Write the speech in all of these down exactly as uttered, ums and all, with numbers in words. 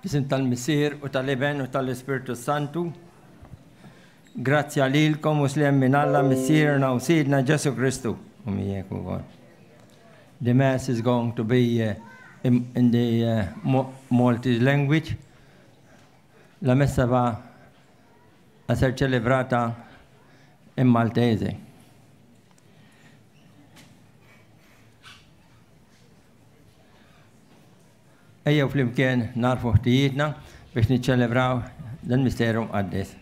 F'isem tal-Missier u tal-Iben u tal-Ispirtu Santu. Grazzja lilkom u sliem minn Alla Missierna u Sidna Ġesu Kristu. U miegħek ukoll. The Mass is going to be uh, in, in the uh, Maltese language. La messa va a ser celebrata in Maltese. Ejjew flimkien narfu ħtijietna biex niċċelebraw dan misteru mqaddes.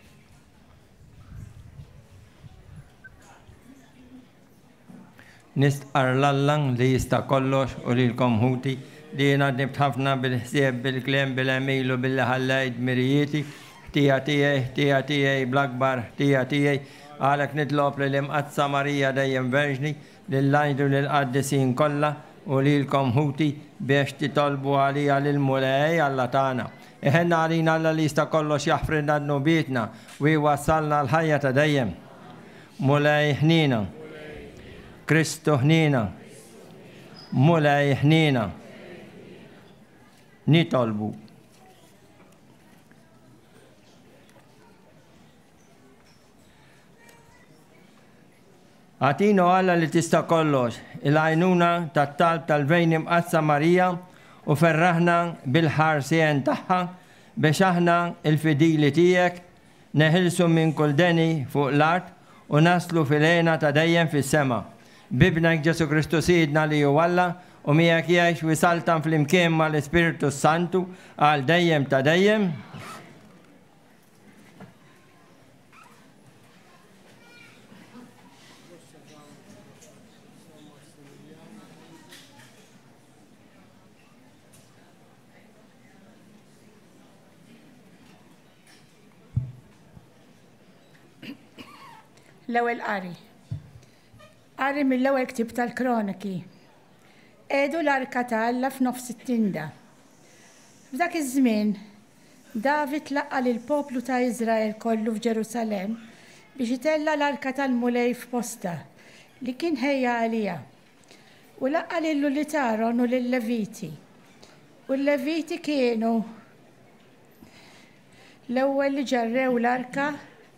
Nistqar l-Alla li jista' kollox u lilkom ħuti li jiena dnibt ħafna bil-ħsieb, bil-kliem, bil-għemil u billi ħallejt dmirijieti, ħtija tiegħi, ħtija tiegħi, bl-akbar ħtija tiegħi, għalhekk nitlob lil Imqaddsa Marija dejjem Verġni, lill-anġli u lill-qaddisin kollha u lilkom ħuti biex titolbu għalija lill-Mulej Alla tagħna. Iħenna għalina Alla li jista' kollox jaħfrilna dnubietna u jwassalna l-ħajja ta' dejjem. Mulej ħnina. Kristu ħnina. Mulej ħnina. Nitolbu. Agħtina Alla li tista' kollox, il-għajnuna tat-talb tal-Verġni Mqaddsa Marija u ferraħna bil-ħarsien tagħha biex aħna il-fidili tiegħek neħilsu minn kull deni fuq l-art u naslu fil-hena ta' dejjem fis-sema. B'Ibnek Ġesu Kristu Sidna li hu Alla u miegħek jgħix u jsaltan flimkien mal-Ispirtu Santu għal dejjem ta' dejjem. L-ewwel qari. Qari mill-ewwel ktieb tal-Kroniki. Qiegħdu l-arka ta' Alla f'nofs it-tinda. F'dak iż-żmien, David laqqa' lill-poplu ta' Iżrael kollu f'Ġerusalemm biex itella' l-arka tal-Mulej f'posta li kien ħejja għaliha. U laqqa' lil ulied Aron u lil-Leviti. U l-Leviti kienu l-ewwel li ġarrew l-arka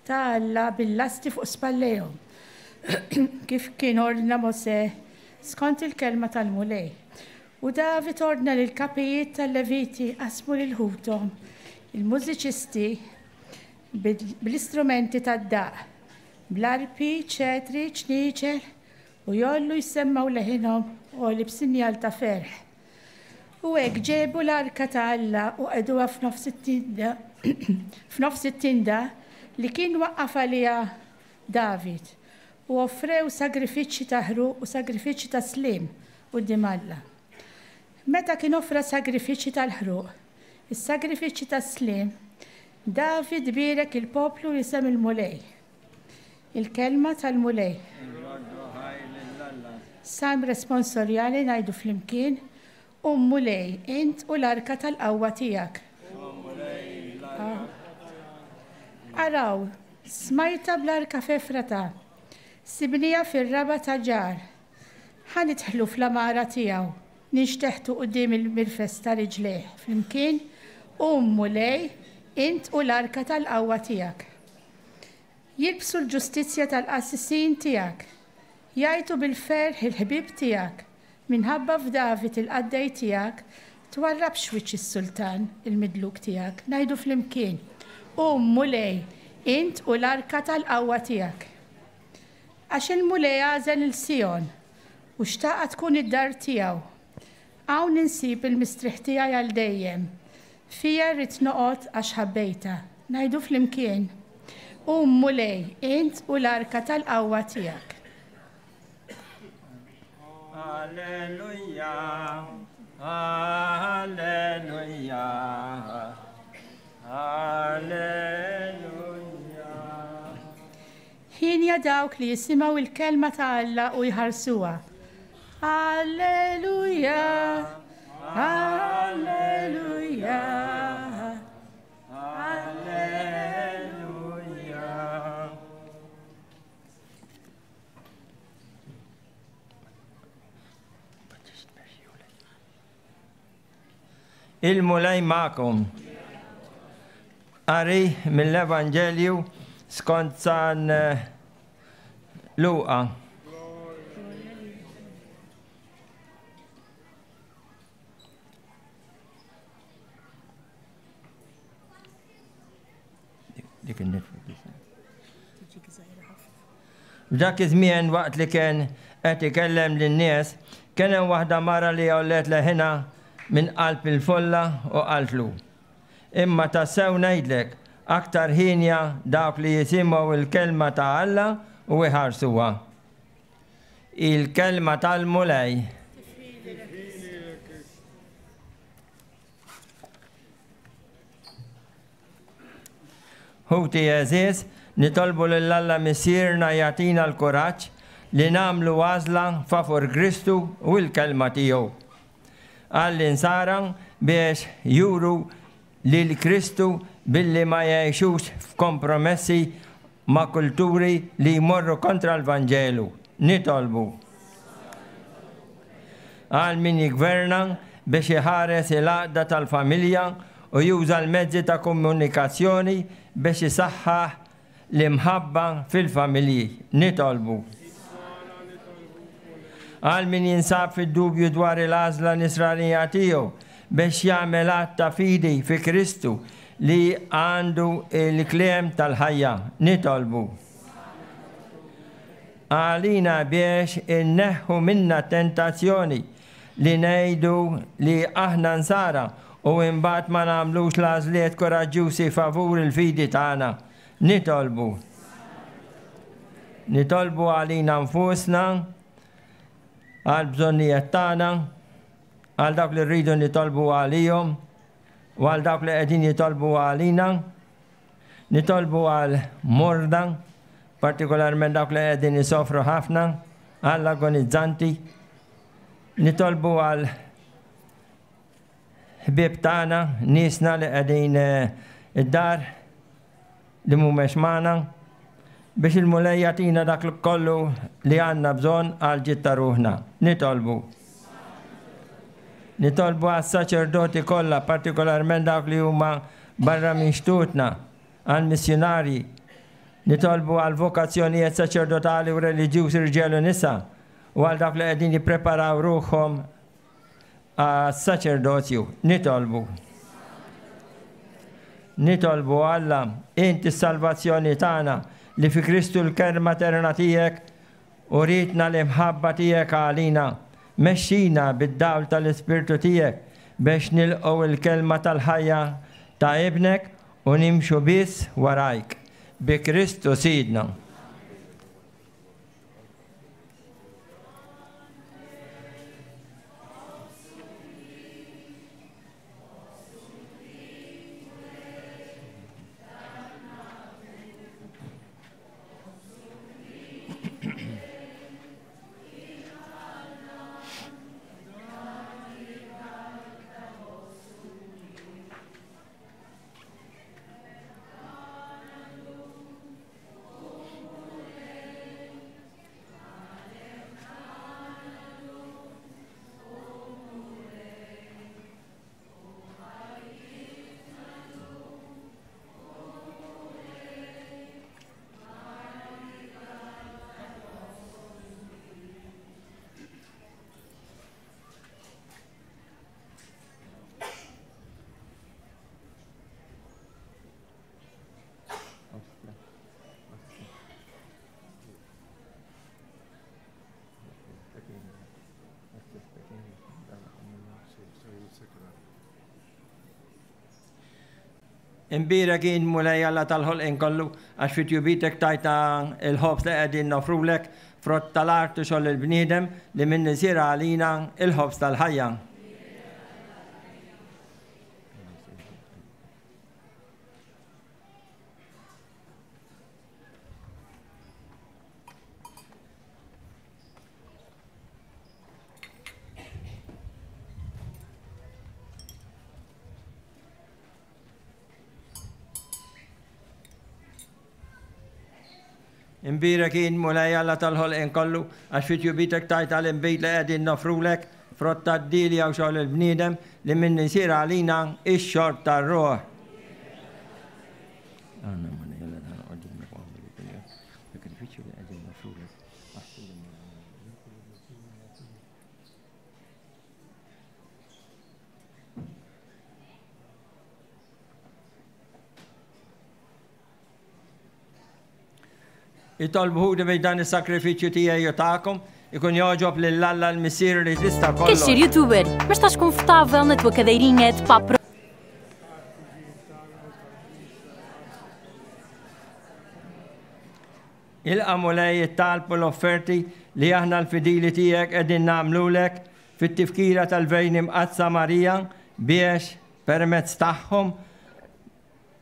ta' Alla bil-lasti fuq spallejhom, kif kien ordna Mosè skont il-kelma tal-Mulej. U David ordna lil kapijiet tal-Leviti qasmu lil ħuthom il-mużiċisti bl-istrumenti tad-daq, bl-arpi, ċetri, ċnieċel, u jollu jsemmaw leħinhom għoli b'sinjal ta' ferħ. U hekk ġebu l-arka ta' Alla u qegħduha f'nofs it-tinda f'nofs it-tinda li kien waqqaf għaliha David, u offrew sagrifiċċji ta' ħruq u sagrifiċċji ta' sliem quddiem Alla. Meta kien offra sagrifiċċji tal-ħruq, is-sagrifiċċji ta' sliem, David bierek il-poplu jisem il-Mulej. Il-kelma tal-Mulej. Salm responsorjali ngħidu flimkien, Um Mulej, int u l-arka tal-qawwa tiegħek. Araw, smajta bl-arka f'Efrata, sibnija fir-raba ta' ġar. Ħa nidħlu fl-għamara tiegħu, ninxteħtu quddiem il-mirfes ta' riġlejh flimkien, Um Mulej, int u l-arka tal-qawwa tiegħek. Jilbsu l-ġustizzja tal-qassisin tiegħek, jgħajtu bil-ferħ il-ħbieb tiegħek, minħabba f'David il-qaddej tiegħek, twarrabx wiċċ is-sultan il-midluk tiegħek. Ngħidu flimkien, Um Mulej, int u l-arka tal-qawwa tiegħek. Għax il-Mulej għażel il Sijon u xtaqa tkun id-dar tiegħu. Hawn insib il-mistrieħ tiegħi għal dejjem. Fija rrid noqgħod għax ħabbejta. Ngħidu flimkien, Um Mulej, int u l-arka tal-qawwa tiegħek. Alleluja, alleluja, alleluja. Ħinja dawk li jisimgħu il-kelma ta' Alla u jħarsuha. Alleluja, alleluja, alleluja. Il-Mulej magħkom. Qari mill-Evanġelju skont San Luqa. Dik F'dak iż-żmien waqt li kien qed ikellem lin-nies, kien hemm waħda mara li għollet leħinha minn qalb il-folla u qaltlu: Imma tassew ngħidlek, aktar ħinja dawk li jisimgħu il-kelma ta' Alla u jħarsuha. Il-kelma tal-Mulej. Ħuti għeżież, nitolbu lil Alla Missierna jagħtina l-kuraġġ li nagħmlu għażla favur Kristu u l-kelma tiegħu. Għall-insara biex juru lil Kristu billi ma jgħixux f'kompromessi ma' kulturi li jmorru kontra l-Vanġelu. Nitolbu. Għal min jigverna biex iħares il-għaqda tal-familja u juża l-mezzi ta' komunikazzjoni biex isaħħaħ l-imħabba fil-familji. Nitolbu. Għal min jinsab fid-dubju dwar il-għażla nisranija tiegħu biex jagħmel att ta' fidi fi Kristu li għandu il-kliem tal-ħajja. Nitolbu. Għalina biex inneħħu minna tentazzjoni li ngħidu li aħna nsara u imbagħad ma nagħmlux l-għażliet koraġġjużi favur il-fidi tagħna. Nitolbu. Nitolbu għalina nfusna, għal bżonnijiet tagħna, għal dawk li rridu nitolbu għalihom u għal dawk li qegħdin jitolbu għalina. Nitolbu għal morda, partikolarment dawk li qegħdin isofru ħafna, għall agonizzanti. Nitolbu għal ħbieb tagħna, niesna li qegħdin id-dar li mhumiex magħna, biex il-Mulej jagħtina dak kollu li għandna bżonn għal ġid ta' ruħna. Nitolbu. Nitolbu għas-saċerdoti kollha, partikolarment dawk li huma barra minn xtutna, għall-missjunarji. Nitolbu għal vokazzjonijiet saċerdotali u reliġjużi rġiel u nisa, u għal dawk li qegħdin jippreparaw ruħhom għas-saċerdozju. Nitolbu. Nitolbu Alla, inti s-salvazzjoni tagħna li fi Kristu l-kelma eterna tiegħek u ritna l-imħabba tiegħek għalina. Mexxina bid-dawl tal-Ispirtu tiegħek biex nilqgħu il-kelma tal-ħajja ta' ibnek u nimxu biss warajk. Bi Kristu Sidna. Imbira kien Mulej Alla tal-ħolqien kollu, għax fi tjubitek tajta il-ħobż li qegħdin nofrulek, frott tal-art u xogħol il-bniedem li minn isir għalina il-ħobż tal-ħajja. Imbira kien Mulej Alla tal-ħolqien kollu, għax fi tjubitek tajta l-inbid li qegħdin nofrulek, frott tad-dilja u xogħol il-bniedem li minn isir għalina ix-xorb tar-ruħ. Ilqagħna Mulej Alla tagħna quddiemek u aħmel id-dinja. Sakrifiċċju li qegħdin nofrulek. Itolbu ħuti biex dan is-sakrifiċċju tiegħi u tagħkom ikun jogħġob lil Alla l-Missier li tista' kollox. Queres ser youtuber, mas estás confortável na tua cadeirinha de papo? Ilqa' Mulej it-talb u l-offerti li aħna l-fidili tiegħek qegħdin nagħmlulek fit-tifkira tal-Verġni Mqaddsa Marija biex permezz tagħhom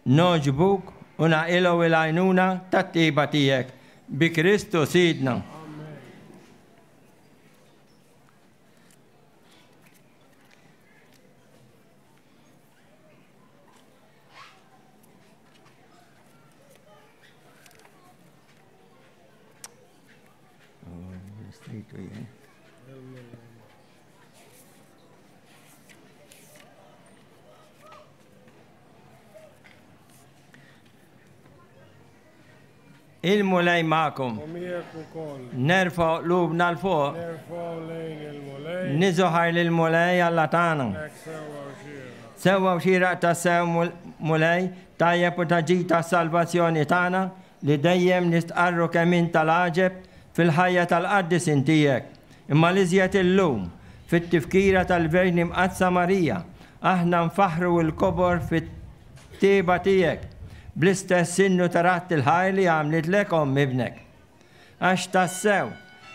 nogħġbuk u naqilgħu l-għajnuna tat-tiba tiegħek. Bi Kristu Sidna. Il-Mulej magħkom. Nerfgħu qlubna 'l fuq. Niżoħar lill-Mulej Alla tagħna. Sewwa u xieraq tassew Mulej, tajjeb u ta' ġid tas-salvazzjoni tagħna li dejjem nistqarru kemm int tal-għaġeb fil-ħajja tal-qaddisin tiegħek. Imma l-iżjed illum fit-tifkira tal-Verġni Mqaddsa Marija, aħna nfaħħru l-kobor fit-tiba tiegħek bl-istess sinnu ta' ratt il-ħaj li għamlitlek omm ibnek. Għax tassew,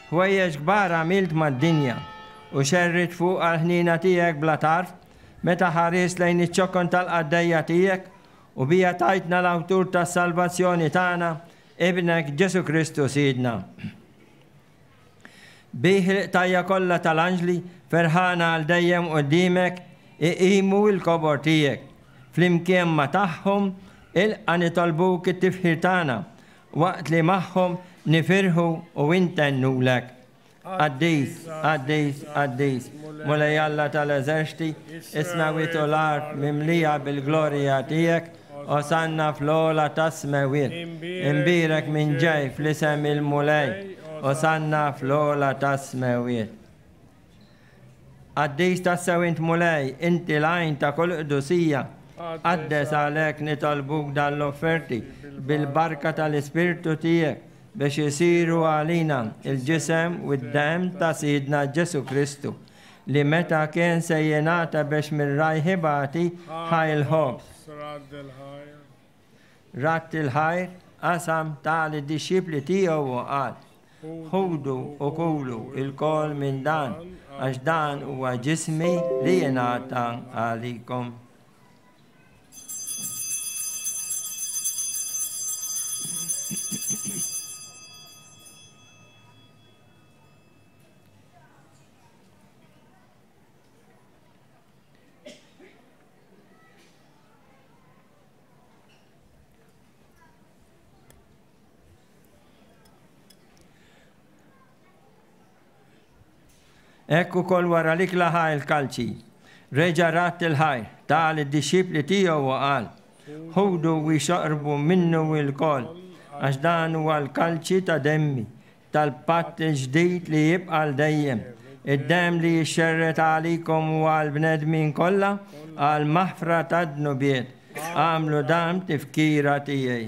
ħwejjeġ kbar għamilt mad-dinja u xerrit fuq għal-ħnina tiegħek bla tarf meta ħares lejn iċ-ċokon tal-qaddejja tiegħek u bija tajtna l-awtur tas-salvazzjoni tagħna, ibnek Ġesu Kristu Sidna. Bih il-qtajja kollha tal-anġli ferħana għal dejjem quddiemek iqimu l-kobor tiegħek. Flimkien ma tagħhom ilqa' nitolbuk it-tifħir tagħna waqt li magħhom nifirħu u intennulek. Qaddis, qaddis, qaddis, Mulej Alla tal-eżerċti, is-smewwiet u l-art mimlija bil-glorja tiegħek, Osanna fl-ogħla tas-smewwiet. Imbierek min ġej fl-isem il-Mulej, Osanna fl-ogħla tas-smewwiet. Qaddis tassew int Mulej, inti l-għajn ta' kull qdusija. Qaddes għalhekk nitolbuk dan l-offerti bil-barka tal-Ispirtu tiegħek biex isiru għalina il-ġisem u d-demm ta' Sidna Ġesu Kristu li meta kien se jingħata biex mir-rajħ ibati ħa l-ħobż. Radd il-ħajr qasam ta lid-dixxipli tiegħu u qal: Ħudu u kulu lkoll minn dan, għax dan huwa ġismi li jingħata għalikom. Hekk ukoll wara l-ikla ħa l-kalċi. Reġa' radd il-ħajr, ta lid-dixxipli tiegħu u qal: Ħudu u xorbu minnu lkoll, għax dan huwa l-kalċi ta' demmi, tal-patt il-ġdid li jibqa' għal dejjem. Id-demm li jixxerred għalikom u għall-bnedmin kollha għal maħfra tad-dnubiet. Agħmlu dan tifkira tiegħi.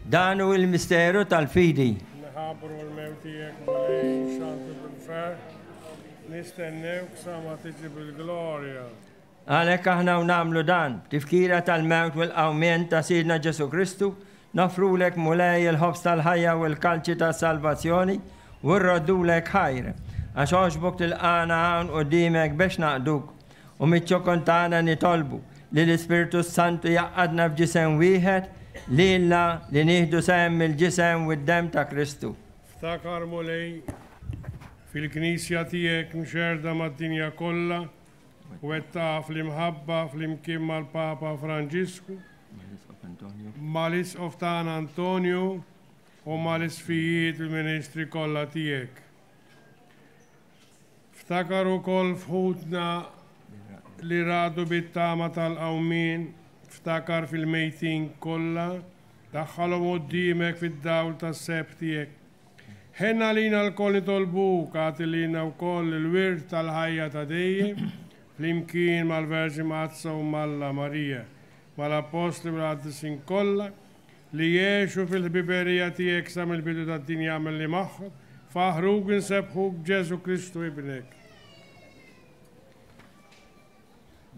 Dan hu l-misteru tal-fidi. Nħabbru l-mewt tiegħek Mulej, xantu bil-ferħ, nistennewk sa ma tiġi bil-glorja. Għalhekk aħna u nagħmlu dan, tifkira tal-mewt u l-qawmien ta' Sidna Ġesu Kristu, nofrulek Mulej il-ħobż tal-ħajja u l-kalċi tas-salvazzjoni u rroddulek ħajr, għax għoġbok tilqana hawn quddiemek biex naqduk u miċ-ċokon tagħna nitolbu li l-Ispirtu Santu jaqadna f'ġisem wieħed lilna li nieħdu sehem mill-ġisem u d-demm ta' Kristu. Ftakar Mulej fil-Knisja tiegħek mxerda mad-dinja kollha U qed taf l-imħabba flimkien mal-Papa Franġisku, mal-Isqof tagħna Antonju u mal-isfijiet il-ministri kollha tiegħek. Ftakar ukoll f'ħutna li radu bit-tama tal-qawmien, ftakar fil-mejtin kollha, daħħalhom quddiemek fid-dawl tas-seb tiegħek. Ħenna lina lkoll nitolbuk, agħti lilna wkoll il-wirt tal-ħajja ta' dejjem, flimkien mal-Verġni Mqaddsa u Malla Marija, mal-Appostli u l-Qaddisin kollha, li jgħixu fil-ħbiberija tiegħek sa mill-bidu tad-dinja mill-li magħhom, faħruk insebbħuk Ġesu Kristu ibnek.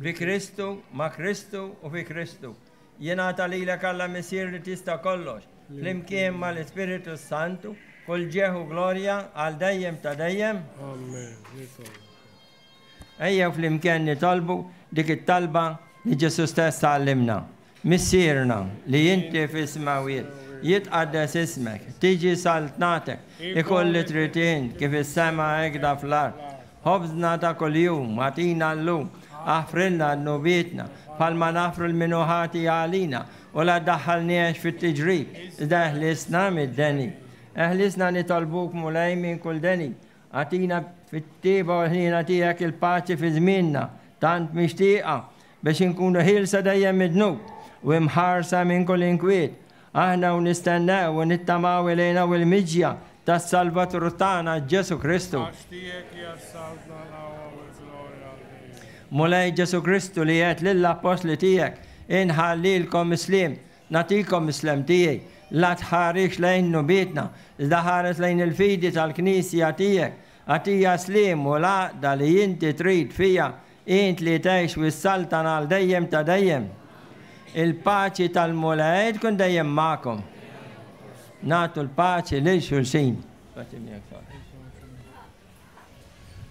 Bi Kristu, ma' Kristu u fi Kristu. Jingħata lilek Alla Missier li tista' kollox, flimkien mal-Ispiritu Santu, kull ġieħ u glorja għal dejjem ta' dejjem. Amen. Ejjew flimkien nitolbu dik it-talba li Ġesu stess għallimna. Missierna li inti fis-smawiet, jitqaddes ismek, tiġi saltnatek, ikoll li trid int kif is-sema hekk fl-art. Ħobżna ta' kuljum agħtina llum, aħfrilna dnubietna bħalma nafru l-minuħati għalina, u la ddaħħalniex fit-tiġrib, iżda eħlisna mid-deni. Eħlisna nitolbuk Mulej minn kull deni, agħtina fit-tieba u l-ħniena tiegħek il-paċi fi żmienna, tant mixtieqa biex inkunu ħielsa dejjem mid-dnub u imħarsa minn kull inkwiet. Aħna u nistennew u nittamaw ilejna u l-miġja tas-Salvatur tagħna Ġesu Kristu. Mulej Ġesu Kristu li għedt lill-appostli tiegħek, inħallilkom is-sliem, nagħtikom is-slem tiegħi, la tħarix lejn nubietna, iżda ħares lejn il-fidi tal-Knisja tiegħek, agħtija sliem u l-għaqda li inti trid fija, int li tgħix u s-saltan għal dejjem ta' dejjem. Il-paċi tal-Mulej tkun dejjem magħkom. Nagħtu l-paċi lil xulxin. Paċi miegħek Father.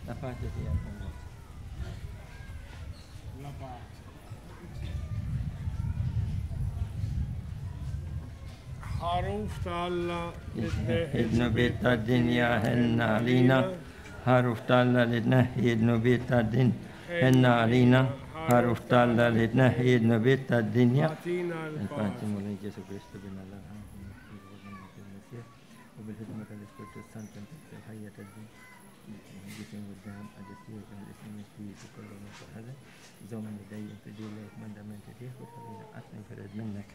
La paċi tiegħek. La pace. Ħaruf ta' Alla li tneħħi id-dnubiet tad-dinja ħenna għalina. Ħaruf ta' Alla li tneħħi id-dnubiet tad-dinja ħenna għalina. Ħaruf ta' Alla li tneħħi id-dnubiet tad-dinja. Agħtina Il-paċi l-paċi. Mulej Ġesu Kristu bin Alla u bil-ħidma tal-Ispirtu Santu il-ħajja tad-dinja. Ġisim u d-dam qaddis tiegħek għall-isem il-Spiritu kollu minn Żommni dejjem fidili l-kmandamenti tiegħek u tħallina qatt ninfired minnek.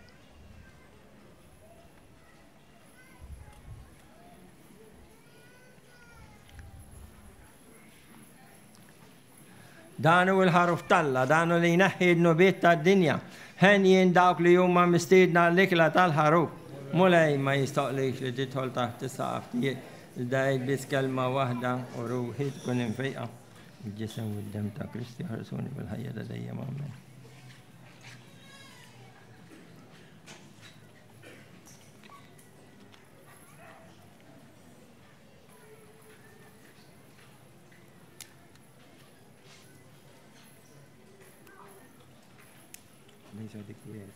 Dan hu l-ħaruf t'Alla, dan hu li jneħħi d-dnubiet tad-dinja. Henjin dawk li huma mistiedna l-ikla tal-ħaruf. Mulej ma jistoqlix li tidħol taħt is-saqaf tiegħek, iżda għid biss kelma waħda u ruħi tkun imfejqa. Il-ġisem u d-demm ta' Kristu jħarsuni bil-ħajja ta' dejjem. Amen. These are the creators.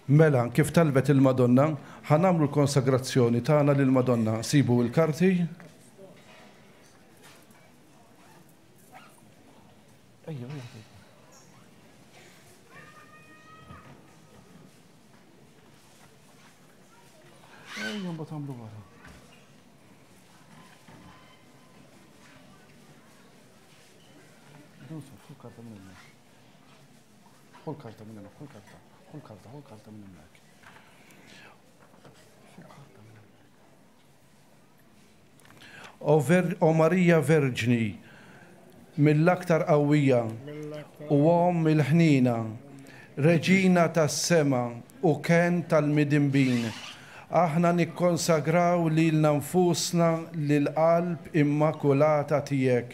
Mela, kif talbet il-Madonna, ħa nagħmlu l-konsagrazzjoni tagħna lill-Madonna. Sibu l-karti. Ejja, ejja. Ejja, mbagħad tagħmlu wara. Ħu karta minn hemmhekk. Ħu l-karta minn hemmhekk, ħu l-karta. Ħu l-karta, ħu l-karta minn hemmhekk. Ħu l-karta minn hemmhekk. O Marija Verġni, mill-aktar qawwija u Omm il-ħnina, Reġina tas-sema u ken tal-midinbin, aħna nikkonsagraw lilna nfusna lill-qalb immakulata tiegħek.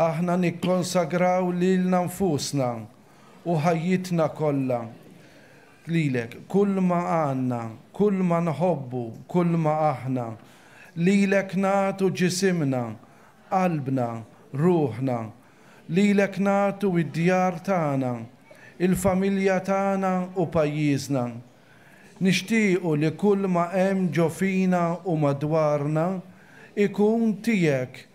Aħna nikkonsagraw lilna nfusna u ħajjitna kollha lilek, kull ma għandna, kull ma nħobbu, kull ma aħna, lilek nagħtu ġisimna, qalbna, ruħna, lilek nagħtu id-djar tagħna, il-familja tagħna u pajjiżna. Nixtiequ li kull ma hemm ġo fina u madwarna ikun tiegħek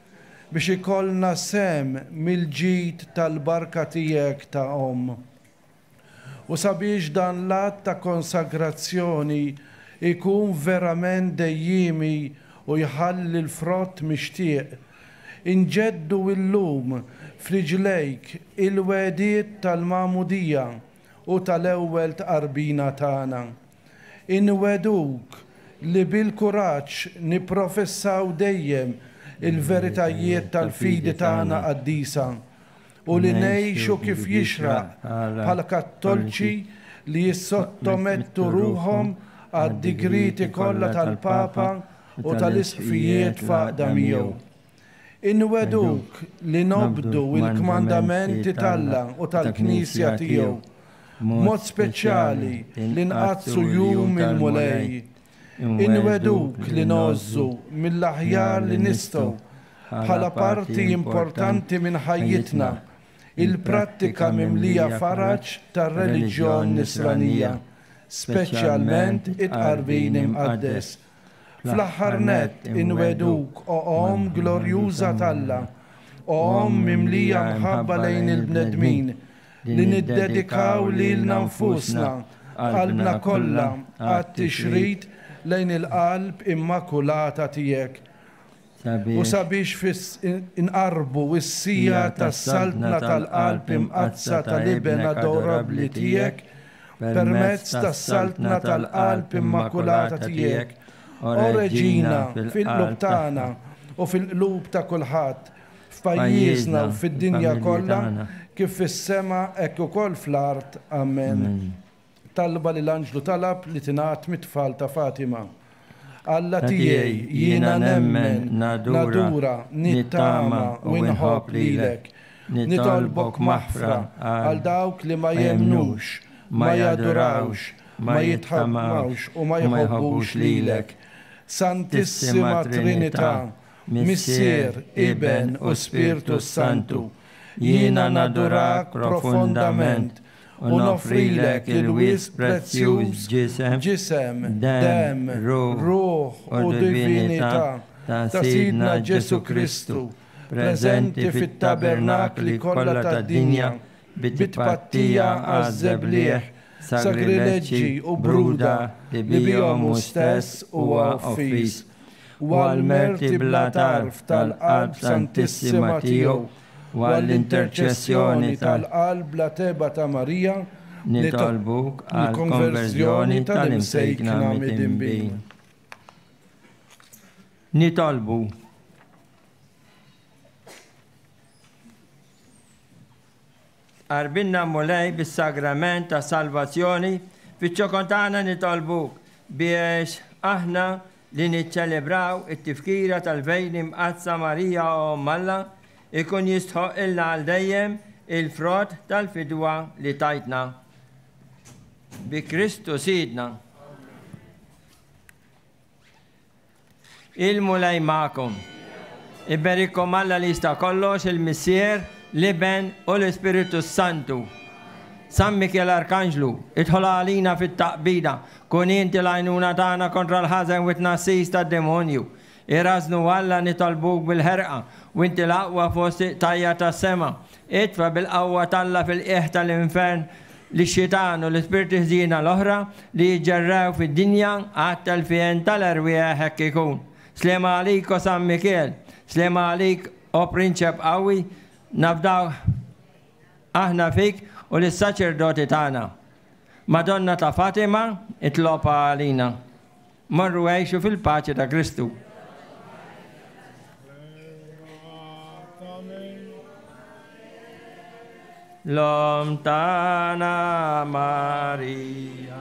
biex ikollna sem mill-ġid tal-barka tiegħek ta' omm. U sabiex dan l-att ta' konsagrazzjoni ikun verament dejjimi u jħalli l-frott mixtieq, inġeddu illum f'riġlejk il-wegħdiet tal-magħmudija u tal-ewwel tqarbina tagħna. Inwegħduk li bil-kuraġġ nipprofessaw dejjem il-veritajiet tal-fidi tagħna qaddisa u li ngħixu kif jixraq bħala kattoliċi li jissottomettu ruħhom għad-digriti kollha tal-Papa u tal-Isqfijiet f'għaqda miegħu. Inwegħduk li nobdu l-kmandamenti t'Alla u tal-Knisja tiegħu, b'mod speċjali li nqaddsu jum il-Mulej. Inwegħduk li ngħożżu mill-aħjar li nistgħu bħala parti importanti minn ħajjitna il-prattika mimlija faraġ tar-reliġjon nisranija, speċjalment it-tqarbin imqaddes. Fl-aħħar nett inwegħduk, o Omm glorjuża t'Alla, o Omm mimlija mħabba lejn il-bnedmin, li niddedikaw lilna nfusna qalbna kollha għat-tixrid lejn il-qalb immakulata tiegħek. U sabiex inqarbu s-sija tas-saltna tal-qalb imqaddsa tal-Iben adorabbli tiegħek permezz tas-saltna tal-qalb immakulata tiegħek, o Reġina fil-qlub tagħna u fil-qlub ta' kulħadd, f'pajjiżna u fid-dinja kollha, kif fis-sema hekk ukoll fl-art. Amen. Talba li l-anġlu talab li tingħad mit-tfal ta' Fatima. Alla tiegħi, jiena nemmen, nadura, nittama u nħobb lilek. Nitolbok maħfra għal dawk li ma jemmnux, ma jadurawx, ma jitħammawx u ma jħobbux lilek. Santissima Trinità, Missier, Iben u Spirtu Santu, jiena nadurak profondament u noffrilek il-wisq prezzjuż ġisem, demm, ruħ u divinità ta' Sidna Ġesù Kristu, preżenti fit-tabernakli kollha tad-dinja bit-tpattija għaż-żebliegħ, sagrileġġi u bruda li bihom hu stess huwa offiż, u għall-merti bla tarf tal-qalb santissima tiegħu, u għall-interċessjoni tal-qalb bla teba ta' Marija, nitolbuk għall-konverżjoni tal-imsejkna midinbin. Nitolbu. Arbinna Mulej bis-sagrament ta' salvazzjoni, fiċ-ċokon tagħna nitolbuk biex aħna li niċċelebraw it-tifkira tal-Verġni Mqaddsa Marija Omm Alla ikun jistħoq ilna għal dejjem il-frott tal-fidwa li tajtna. Bi Kristu Sidna. Il-Mulej magħkom. Iberikkom Alla li jista' kollox, il-Missier, l-Iben u l-Ispiritu Santu. San Mikiel Arkanġlu, idħol għalina fit-taqbida, kun inti l-għajnuna tagħna kontra l-ħażen u t-tnassis tad-demonju. Irażnu Alla nitolbuk bil-ħerqa, u inti l-aqwa fost tajja tas-sema. Itfa' bil-qawwa t'Alla fil-qiegħ tal-infern lix-xitan u l-ispirti ħżiena l-oħra li jiġġerrew fid-dinja għat-telfien tal-erwieħ hekk ikun. Slema għalik o San Mikiel, slema għalik o Prinċep qawwi, nafdaw aħna fik u lis-saċerdoti tagħna. Madonna ta' Fatima, itlob għalina. Morru għejxu fil-paċi ta' Kristu. L-Omm tagħna Marija.